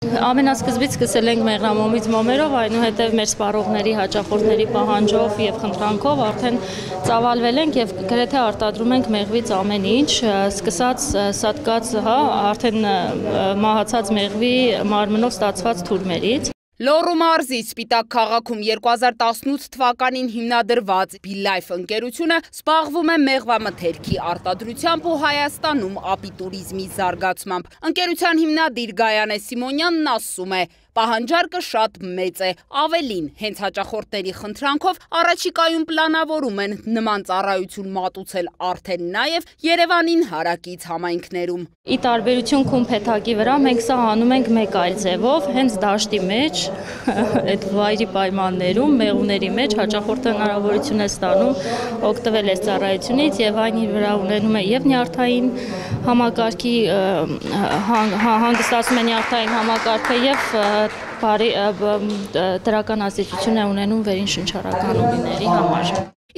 Ամենասկզբից սկսել ենք մեղրամոմից մոմերով, այնուհետև մեր սպառողների, հաճախորդների պահանջով եւ խնդրանքով արդեն ծավալվել ենք եւ գրեթե արտադրում ենք մեղվից ամեն ինչ, սկսած սատկած, արդեն մահացած մեղվի մարմնով ստացված թուրմերից։ Լոռու մարզի Սպիտակ քաղաքում 2018 թվականին հիմնադրված Բիլայֆ ընկերությունը զբաղվում է մեղվամթերքի արտադրությամբ ու Հայաստանում ապիտուրիզմի զարգացմամբ։ Ընկերության հիմնադիր Գայանե Սիմոնյանն ասում է, պահանջարկը շատ մեծ է, ավելին, հենց հաճախորդների խնդրանքով առաջիկայում պլանավորում են նման ծառայություն մատուցել արդեն նաև Երևանին հարակից համայնքներում։ Ի տարբերություն Քումփեթակի վրա մենք սա անում ենք մեկ այլ ձևով, հենց դաշտի մեջ, այդ վայրի պայմաններում, մեղուների մեջ հաճախորդը հնարավորություն է ստանում օգտվել այս ծառայությունից եւ այն իր վրա ունենում է եւ նյարդային համակարգի հանգստացում է նյարդային համակարգը եւ դրական ազդեցություն է ունենում վերին շնչառական ուղիների համար։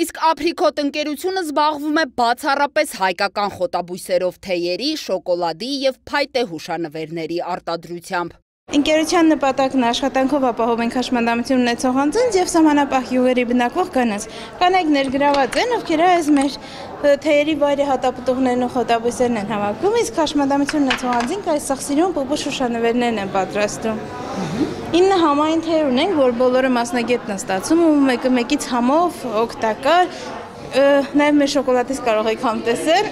Իսկ Apricot ընկերությունը զբաղվում է բացառապես հայկական խոտաբույսերով թեյերի, շոկոլադի եւ փայտե հուշանվերների արտադրությամբ։ Ընկերության նպատակն աշխատանքով ապահով ենք հաշմանդամություն ունեցող անձանց եւ սահմանապահ յուղերի բնակվող կանանց։ Կանայք ներգրաված են, ովքեր այս մեր թեյերի վայրի հատապտուղներն ու խոտաբույսերն են հավաքում, իսկ հաշմանդամություն ունեցող անձինք այս սախսիրուն պուպուշ հուշանվերներն են պատրաստում։ 9 համային թեյեր ունենք, որ բոլորը մասնագետն են ստացում ու մեկը մեկից համով օգտակար, նաեւ մեր շոկոլադից կարող եք համ տեսել։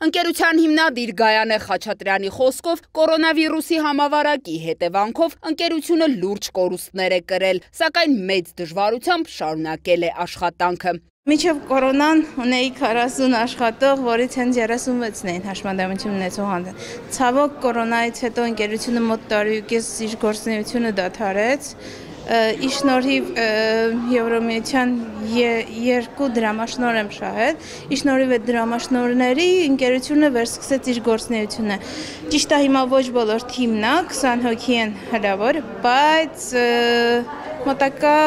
Ընկերության հիմնադիր Գայանե Խաչատրյանի խոսքով կորոնավիրուսի համավարակի հետևանքով ընկերությունը լուրջ կորուստներ է կրել, սակայն մեծ դժվարությամբ շարունակել է աշխատանքը։ Մինչև կորոնան ունեի 40 աշխատող, որից հենց 36-ն էին հաշմանդամություն ունեցող անձանց։ Ցավոք կորոնայից հետո ընկերությունը մոտ տարուկես իր գործունեությունը դադարեց։ Ի շնորհիվ Եվրոմիության 2 դրամաշնոր եմ շահել, ի շնորհիվ այդ դրամաշնորների ընկերությունը վերսկսեց իր գործունեությունը։ Ճիշտ է հիմա ոչ բոլոր թիմն է, 20 հոգի են հրավոր, բայց մոտակա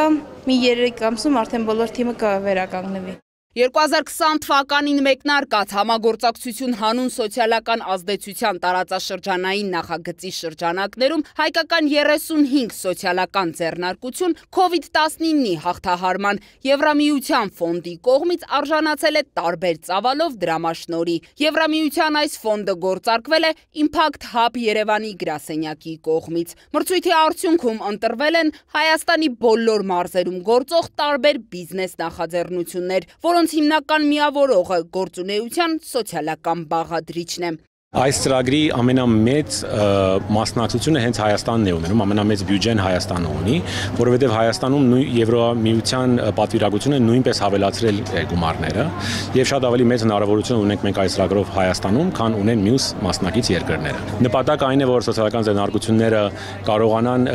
մի 3 ամսում արդեն բոլոր թիմը կվերականգնվի։ 2020 թվականին մեկնարկած համագործակցություն հանուն սոցիալական ազդեցության տարածաշրջանային նախագծի շրջանակներում հայկական 35 սոցիալական ձեռնարկություն COVID-19-ի հաղթահարման Եվրամիության ֆոնդի կողմից արժանացել է տարբեր ծավալով դրամաշնորհի։ Եվրամիության այս ֆոնդը գործարկվել է Impact Hub Երևանի գրասենյակի կողմից։ Մրցույթի արդյունքում ընտրվել են Հայաստանի բոլոր մարզերում գործող տարբեր բիզնես նախաձեռնություններ, որոնց հիմնական միավորողը գործունեության սոցիալական բաղադրիչն է։ Այս ծրագրի ամենամեծ մասնակցությունը հենց Հայաստանն է ունենում, ամենամեծ բյուջեն Հայաստանը ունի, որովհետև Հայաստանում Եվրամիության պատվիրակությունը նույնպես հավելացրել է գումարները եւ շատ ավելի մեծ հնարավորություն ունենք մենք այս ծրագրով Հայաստանում, քան ունեն մյուս մասնակից երկրները։ Նպատակը այն է, որ սոցիալական ձեռնարկությունները կարողանան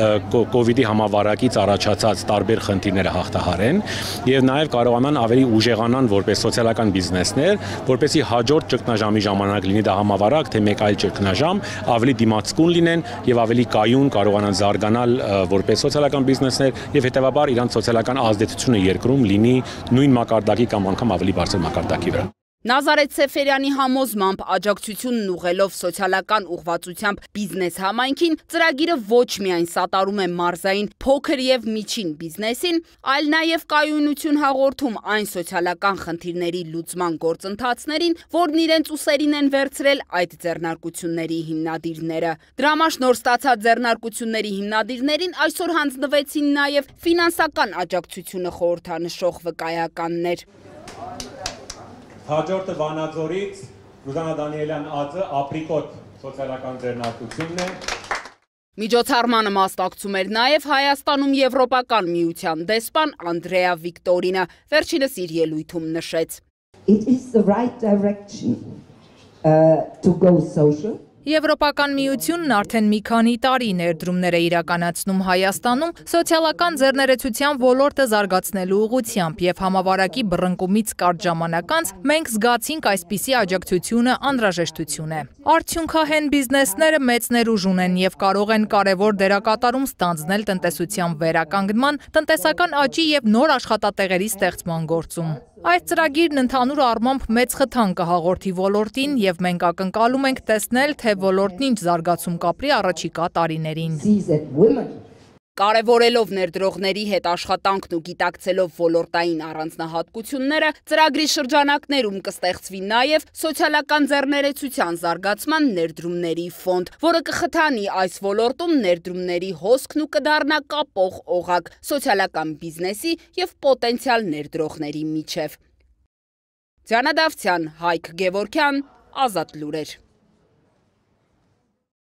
COVID-ի համավարակից առաջացած տարբեր խնդիրները հաղթահարեն եւ նաեւ կարողանան ավելի ուժեղանան որպես սոցիալական բիզնեսներ, որպեսզի հաջորդ ճգնաժամի ժամանակ լինի դա համավարակ թե մեկ այլ ճգնաժամ ավելի դիմացկուն լինեն եւ ավելի կայուն կարողանան զարգանալ որպես սոցիալական բիզնեսներ եւ հետեւաբար իրանց սոցիալական ազդեցությունը երկրում լինի նույն մակարդակի կամ անգամ ավելի բարձր մակարդակի վրա։ Նազարեթ Սեֆերյանի համոզմամբ աջակցությունն ուղղելով սոցիալական ուղղվածությամբ բիզնես համայնքին, ծրագիրը ոչ միայն սատարում է մարզային փոքր եւ միջին բիզնեսին, այլ նաեւ կայունություն հաղորդում այն սոցիալական խնդիրների լուծման գործընթացներին, որն իրենց ուսերին են վերցրել այդ ձեռնարկությունների հիմնադիրները։ Դրամաշնորհ ստացած ձեռնարկությունների հիմնադիրներին այսօր հանձնվեցին նաեւ ֆինանսական աջակցությունը խորհրդանշող վկայականներ։ Հաջորդը Վանաձորից Ռուզանա Դանիելյան Ածը Apricot սոցիալական ձեռնարկությունն է։ Միջոցառմանը մասնակցում էր նաև Հայաստանում Եվրոպական միության դեսպան Անդրեա Վիկտորինը, վերջինս իր ելույթում նշեց. It is the right direction to go social. Եվրոպական միությունն արդեն մի քանի տարի ներդրումներ է իրականացնում Հայաստանում սոցիալական ձեռներեցության ոլորտը զարգացնելու ուղղությամբ եւ համավարակի բռնկումից կարճ ժամանակ անց մենք զգացինք այսպիսի աջակցությունը անհրաժեշտություն է։ Արդյունքահեն բիզնեսները մեծ ներուժ ունեն եւ կարող են կարեւոր դերակատարում ստանձնել տնտեսության վերականգնման, տնտեսական աճի եւ նոր աշխատատեղերի ստեղծման գործում։ Այս ծրագիրն ընդհանուր առմամբ մեծ խթան կհաղորդի ոլորտին եւ մենք ակնկալում ենք տեսնել, թե ոլորտն ինչ զարգացում կապրի առաջիկա տարիներին։ Կարևորելով ներդրողների հետ աշխատանքն ու գիտակցելով ոլորտային առանձնահատկությունները, ծրագրի շրջանակներում կստեղծվի նաև սոցիալական ձեռներեցության զարգացման ներդրումների ֆոնդ, որը կխթանի այս ոլորտում ներդրումների հոսքն ու կդառնա կապող օղակ սոցիալական բիզնեսի եւ պոտենցիալ ներդրողների միջև։ Ձյանը Դավթյան, Հայկ Գևորգյան, Ազատ լուրեր։